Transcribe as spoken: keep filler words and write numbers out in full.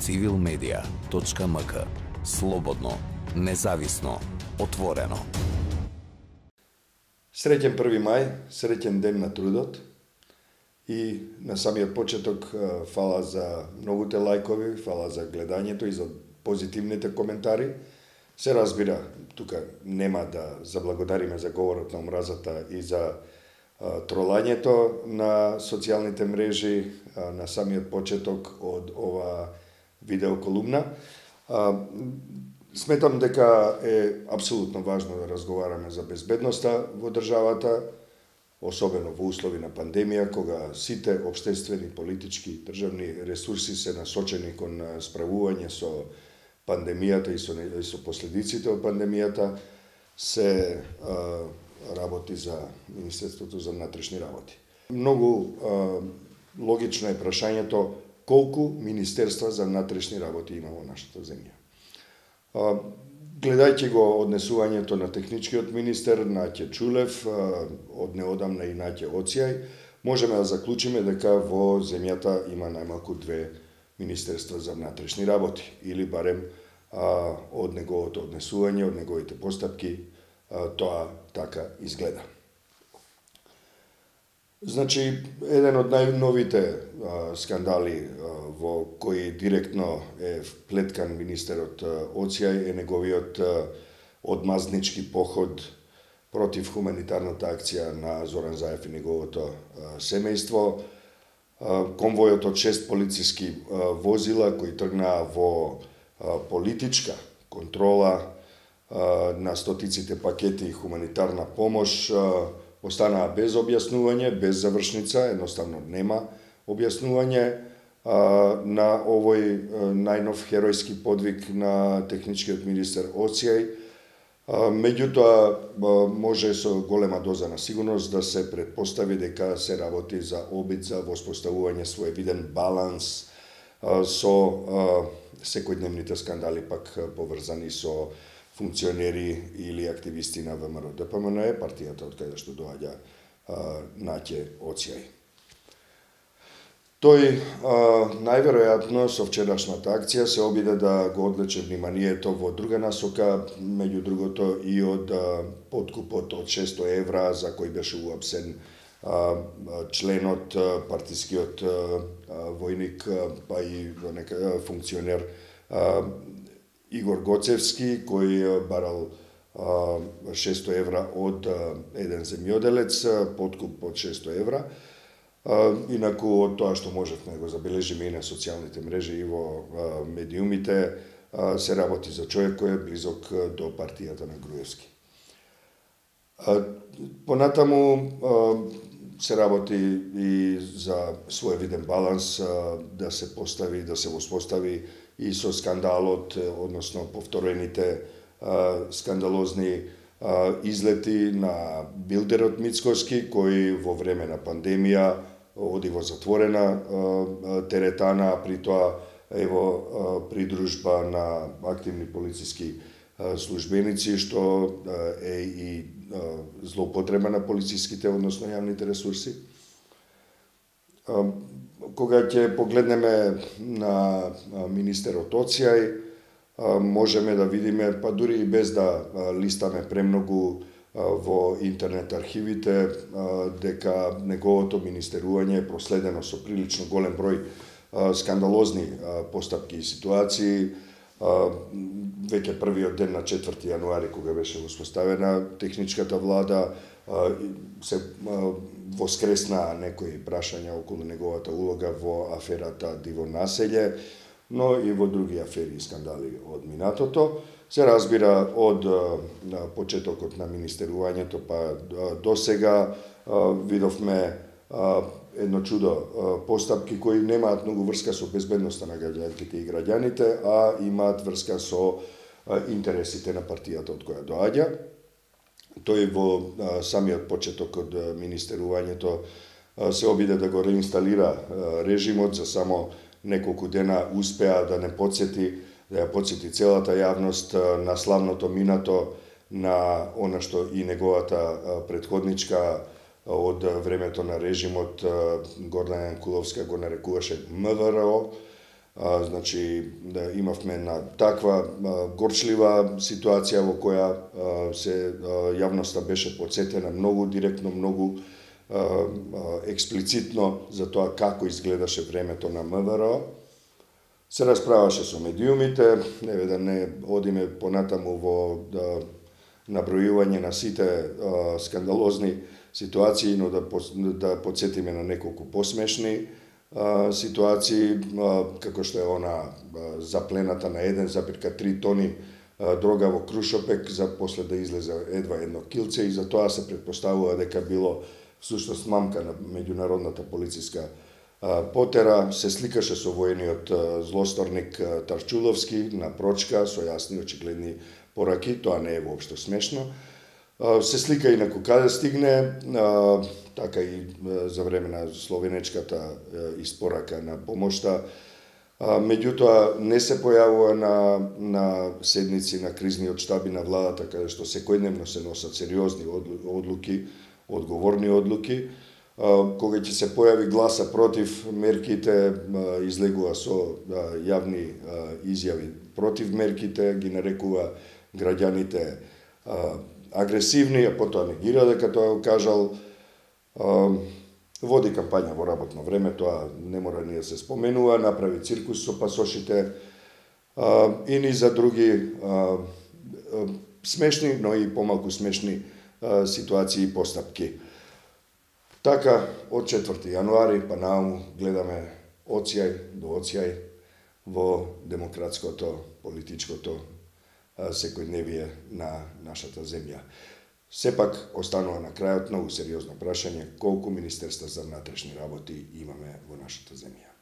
цивил медија точка ем ка. Слободно, независно, отворено. Среќен први мај, среќен ден на трудот. И на самиот почеток фала за многуте лајкови, фала за гледањето и за позитивните коментари. Се разбира, тука нема да заблагодариме за говорот на омразата и за тролањето на социјалните мрежи на самиот почеток од ова видеоколумна. Сметам дека е апсолутно важно да разговараме за безбедноста во државата, особено во услови на пандемија, кога сите општествени, политички, државни ресурси се насочени кон справување со пандемијата и со, и со последиците од пандемијата, се а, работи за Министерството за внатрешни работи. Многу а, логично е прашањето колку Министерства за внатрешни работи има во нашата земја. А, гледајќи го однесувањето на техничкиот министер Наќе Чулев, а, од неодамна и Наќе Оцијај, можеме да заклучиме дека во земјата има најмалку две Министерства за внатрешни работи, или барем а, од неговото однесување, од неговите постапки, а, тоа така изгледа. Значи, еден од најновите а, скандали а, во кои директно е вплеткан министерот Оцијај е неговиот а, одмазнички поход против хуманитарната акција на Зоран Заев и неговото а, семејство, конвојот од шест полициски возила кои тргнаа во политичка контрола на стотиците пакети хуманитарна помош останаа без објаснување, без завршница, едноставно нема објаснување на овој најнов херојски подвиг на техничкиот министер Оцијај. Меѓутоа, може со голема доза на сигурност да се предпостави дека се работи за обид за воспоставување своевиден баланс со секојдневните скандали пак поврзани со функционери или активисти на ВМРО Д П М Н, партијата од каде што доаѓа Наќе Оцијај. Тој најверојатно со вчерашната акција се обиде да го одлече вниманието во друга насока, меѓу другото и од подкупот од шестоста евра за кој беше уапсен членот, партискиот војник, па и нека функционер Игор Гоцевски, кој барал шестоста евра од еден земјоделец, подкуп од шестоста евра. Инаку од тоа што можевме да го забележиме и на социјалните мрежи и во медиумите, се работи за човек кој е близок до партијата на Груевски. Понатаму се работи и за своевиден баланс да се постави, да се воспостави и со скандалот, односно повторените скандалозни излети на билдерот Мицкоски, кој во време на пандемија оди во затворена теретана, при тоа ево придружба на активни полициски службеници, што е и злоупотреба на полициските, односно јавните ресурси. Кога ќе погледнеме на министерот Оцијај, можеме да видиме, па дури и без да листаме премногу во интернет архивите, дека неговото министерување е проследено со прилично голем број скандалозни постапки и ситуации. Веќе првиот ден на четврти јануари, кога беше воспоставена техничката влада, се воскресна некои прашања околу неговата улога во аферата Диво населје, но и во други афери и скандали од минатото. Се разбира од почетокот на министерувањето па до сега видовме едно чудо постапки кои немаат многу врска со безбедноста на граѓанките и граѓаните, а имаат врска со интересите на партијата од која доаѓа. Тој во самиот почеток од министерувањето се обиде да го реинсталира режимот, за само неколку дена успеа да не подсети, да ја подсети целата јавност на славното минато, на она што и неговата предходничка од времето на режимот Гордана Јанкуловска го нарекуваше М В Р О, А, значи, да имавме една таква а, горчлива ситуација во која а, се а, јавноста беше подсетена многу директно, многу а, а, експлицитно за тоа како изгледаше времето на МВР. Се расправаше со медиумите, еве да не одиме понатаму во да, набројување на сите а, скандалозни ситуации, но да, да подсетиме на неколку посмешни а, ситуации, а, како што е она а, заплената на еден запир три тони а, дрога во Крушопек, за после да излезе едва едно килце, и за тоа се предпоставува дека било всушност мамка на меѓународната полициска а, потера. Се сликаше со воениот а, злосторник а, Тарчуловски на прочка со јасни очигледни пораки, тоа не е воопшто смешно. Се слика и на каде стигне, така и за време на словенечката испорака на помошта. Меѓутоа не се појавува на, на седници на кризниот штаби на владата, каде што секојдневно се носат сериозни одлуки, одговорни одлуки. Кога ќе се појави гласа против мерките, излегува со јавни изјави против мерките, ги нарекува граѓаните агресивни, а потоа негира дека тоа го кажал. Води кампања во работно време, тоа не мора ни да се споменува, направи циркус со пасошите и ни за други смешни, но и помалку смешни ситуации и постапки. Така, од четврти јануари па нааму гледаме оцјај до оцјај во демократското, политичкото секојдневие на нашата земја. Сепак останува на крајот многу сериозно прашање колку министерства за внатрешни работи имаме во нашата земја.